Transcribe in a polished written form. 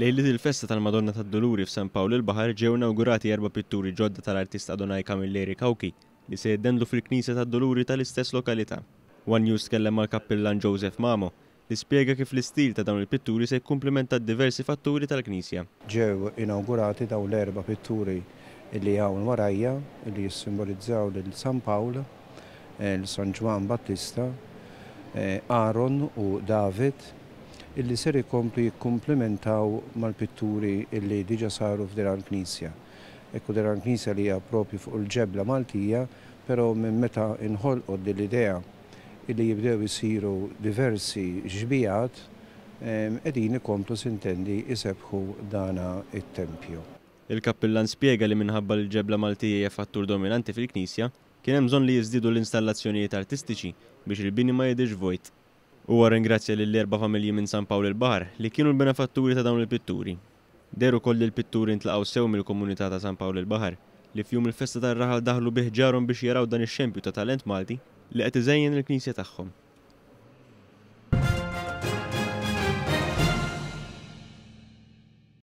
Lejliet il-festa tal-Madonna tad-Duluri f'San Pawl il-Baħar ġew inawgurati erba' pitturi ġodda tal-artist Adonai Camilleri Cauchi li se jiddendlu fil-Knisja tad-Duluri tal-istess lokalità. One News tkellem mal-Kappillan Joseph Mamo li spjega kif l-istil ta' dawn il-pitturi se jikkumplimenta d-diversi fatturi tal-knisja. Ġew inawgurati dawn l-erba' pitturi li hawn warajja li jissimbolizzaw lil San Pawl, lil San Ġwann Battista, Aaron u David illi ser ikomplu jikkumplimentaw mal-pitturi illi diġa saru f'din il-knisja. Ekku din il-knisja li hija propju fuq il-ġebla Maltija, però minn meta inħolqot din l-idea illi jibdew isiru diversi xbijat qegħdin ikomplu sintendi jsebbħu dana it-tempju. Il-kappillan spjega li minħabba li l-ġebla Maltija hija fattur dominanti fil-knisja, kien hemm bżonn li jiżdiedu l-installazzjonijiet artistiċi biex il-bini ma jidhirx vojt. Huwa rringrazzja lill-erba' familji minn San Pawl il-Baħar li kienu l-benefatturi ta' dawn il-pitturi. Deher ukoll li l-pitturi ntlaqgħu sew mill-komunità ta' San Pawl il-Baħar li f'jum il-festa tar-raħal daħlu bi ħġarhom biex jaraw dan ix-xempju ta' talent Malti li qed iżejjen il-knisja tagħhom.